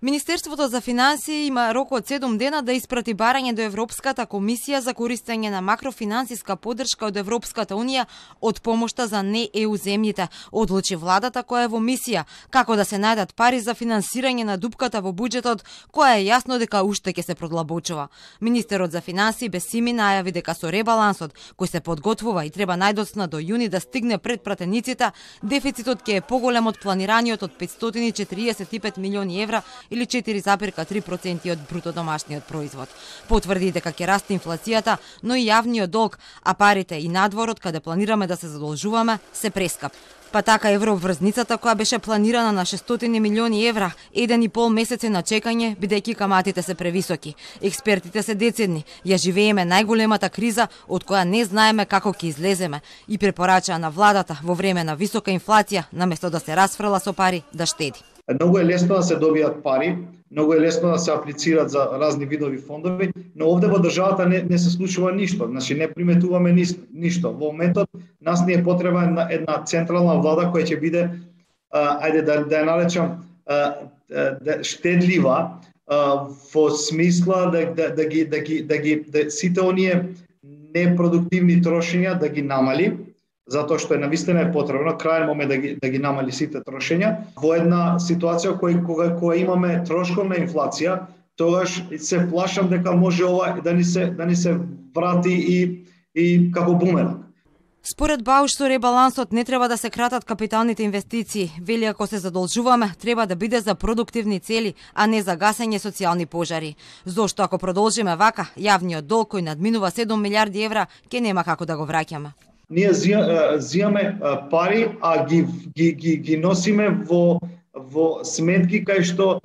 Министерството за финансии има рок од 7 дена да испрати барање до Европската комисија за користење на макрофинансиска поддршка од Европската унија од помошта за не ЕУ земјите. Одлучи владата која е во мисија како да се најдат пари за финансирање на дупката во буџетот, која е јасно дека уште ќе се продлабочува. Министерот за финансии Бесими најави дека со ребалансот кој се подготвува и треба најдоцна до јуни да стигне пред пратениците, дефицитот ќе е поголем од планираниот од 545 милиони евра или 4,3% од бруто домашниот производ. Потврди дека ќе расте инфлацијата, но и јавниот долг, а парите и надворот каде планираме да се задолжуваме се прескап. Па така еврообврзницата која беше планирана на 600 милиони евра, 1,5 месец е на чекање бидејќи каматите се превисоки. Експертите се децидни, ја живееме најголемата криза од која не знаеме како ќе излеземе и препорачаа на владата во време на висока инфлација наместо да се расфрла со пари да штеди. Многу е лесно да се добијат пари, многу е лесно да се аплицираат за разни видови фондови, но овде во државата не се случува ништо, значи не приметуваме ништо. Во моментот нас не е потреба една централна влада која ќе биде, ајде да ја наречам, штедлива во смисла да сите оние непродуктивни трошења да ги намали, затоа што навистина е потребно крајен момент да ги намали сите трошења. Во една ситуација кога имаме трошковна инфлација, тогаш се плашам дека може ова да ни се врати и како бумеранг. Според Бауш, со ребалансот не треба да се кратат капиталните инвестиции. Вели ако се задолжуваме, треба да биде за продуктивни цели, а не за гасење социјални пожари. Зошто ако продолжиме вака, јавниот долг кој надминува 7 милиарди евра, ќе нема како да го враќаме. Ние зијаме пари, а ги носиме во сметки кај што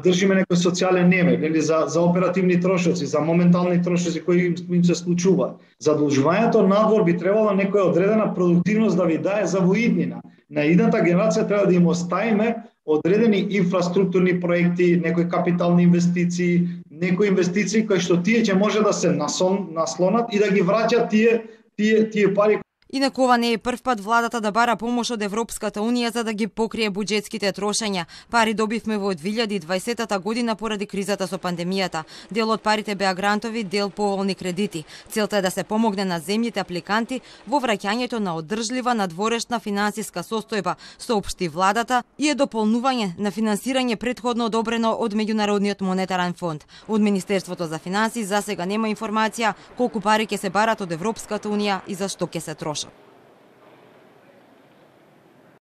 држиме некој социјален немир или за оперативни трошоци, за моментални трошоци кои им се случуваат. Задолжувањето надвор би требало некоја одредена продуктивност да ви дае за воиднина. На идната генерација треба да им оставиме одредени инфраструктурни проекти, некои капитални инвестиции, некои инвестиции кои што тие ќе може да се наслонат и да ги враќат тие пари. Инаку ова не е прв пат владата да бара помош од Европската унија за да ги покрие буџетските трошења. Пари добивме во 2020 година поради кризата со пандемијата. Дел од парите беа грантови, дел поволни кредити. Целта е да се помогне на земјите апликанти во враќањето на одржлива надворешна финансиска состојба, соопшти владата, и е дополнување на финансирање претходно одобрено од Меѓународниот монетарен фонд. Од Министерството за финансии засега нема информација колку пари ќе се барат од Европската унија и за што ќе се трошат.